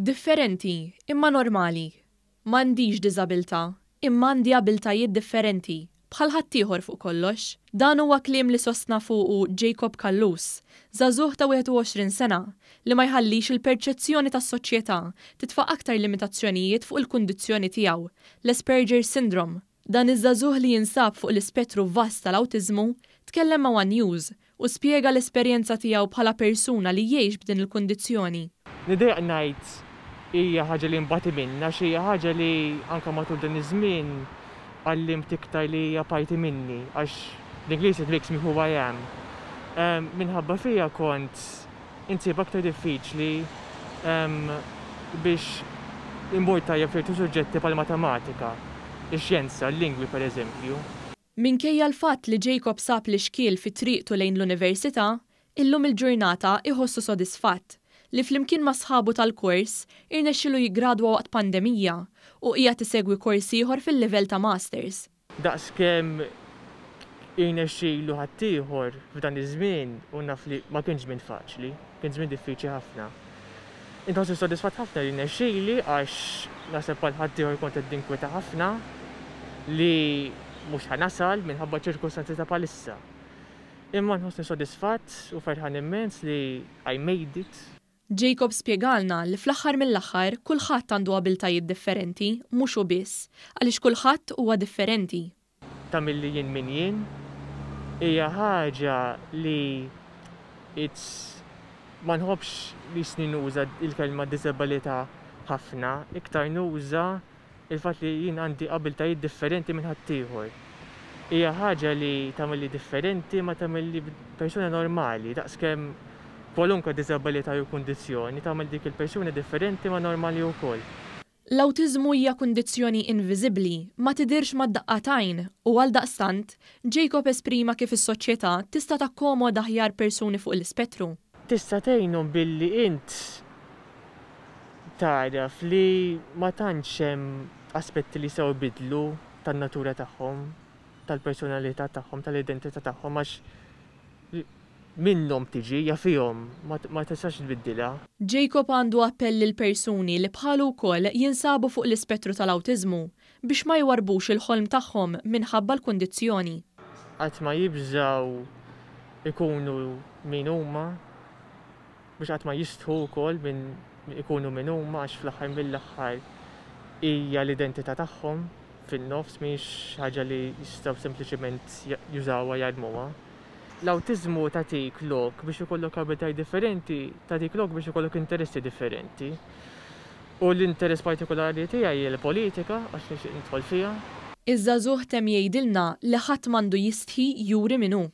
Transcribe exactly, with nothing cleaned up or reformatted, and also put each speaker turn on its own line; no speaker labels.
Differenti, imma normali. M'għandix diżabilità, imma għandi abiltajiet differenti, bħal ħaddieħor fuq kollox. Dan huwa kliem li sostna fuqu Jacob Callus, żagħżugħ ta' wieħed u għoxrin sena, li ma jħallix il-perċezzjoni tas-soċjetà titfa' aktar limitazzjonijiet fuq il-kundizzjoni tiegħu, l-Asperger Syndrome. Dan iż-żagħżugħ li jinsab fuq l-ispettru vast tal-awtiżmu tkellem ma' One News u spjega l-esperjenza tiegħu bħala persuna li jgħix b'din il-kundizzjoni.
Nidejjaq ngħid hija ħaġa li nbati minnha, xi hija ħaġa li anke matul dan iż-żmien għallimt iktar li hija parti minni, għax l-Ingliż, "it makes me who I am". Um, minħabba fija kont insib aktar diffiċli um, biex immur tajjeb f'ċertu suġġetti bħal matematika, ix-xjenza, l-lingwi per eżempju.
Minkejja l-fatt li Jacob sab l-ixkiel fi triqtu lejn l-università, illum il-ġurnata iħossu sodisfatt li flimkien ma' sħabu tal-kors irnexxilu jigradwa waqt pandemija u qiegħed isegwi kors ieħor fil-livell ta' masters.
Daqs kemm irnexxilu ħaddieħor f'dan iż-żmien, u naf li ma kienx żmien faċli, kien żmien diffiċli ħafna. Inħossni sodisfatt ħafna li rnexxieli, għax naħseb bħal ħaddieħor kont qed ninkweta ħafna li mhux ħa nasal minħabba ċirkustanzi ta' bħalissa. Imma nħossni sodisfatt u ferħan immens li I made it.
Jacob spjegalna li fl-aħħar mill-aħħar kulħadd għandu abiltajiet differenti, mhux hu biss, għaliex kulħadd huwa differenti.
Tagħmilli jien min jien, hija ħaġa li it's ma nħobbx li snin nuża il-kelma disabilità ħafna, iktar nuża il-fatt li jien għandi abiltajiet differenti minn ħaddieħor. Hija ħaġa li tagħmilli differenti ma tagħmilli persuna normali, daqskemm kwalunkwe diżabilità jew kundizzjoni tagħmel dik il-persuna differenti ma normali wkoll.
L-awtiżmu hija kundizzjoni inviżibbli, ma tidirx mad-daqqa t'għajn, u għal daqstant Jacob esprima kif is-soċjetà tista' takkomoda aħjar persuni fuq l-ispettru.
Tista' tgħinhom billi int taraf li ma tantx hemm aspetti li sew bidlu tan-natura tagħhom, tal-personalità tagħhom, tal-identità tagħhom, għax minnhom tiġi, ja fihom, ma tistax tbiddilha.
Jacob għandu appell lil persuni li bħalu wkoll jinsabu fuq l-ispettru tal-awtiżmu biex ma jwarbux il-ħolm tagħhom minħabba l-kundizzjoni.
Qatt ma jibżaw ikunu min huma, biex qatt ma jistħu wkoll minn ikunu min huma, għax fl-aħħar mill-aħħar hija l-identità tagħhom fin-nofs, mhix ħaġa li jistgħu sempliċement jużawha, jarmuha. L-awtiżmu tagħtik lok biex ikollok abilitajiet differenti, tagħtik lok biex ikollok interessi differenti. U l-interess partikolari tiegħi hija l-politika, għax nixtieq nidħol fiha.
Iż-żagħżugħ temm jgħidilna li ħadd m'għandu jistħi juri min hu.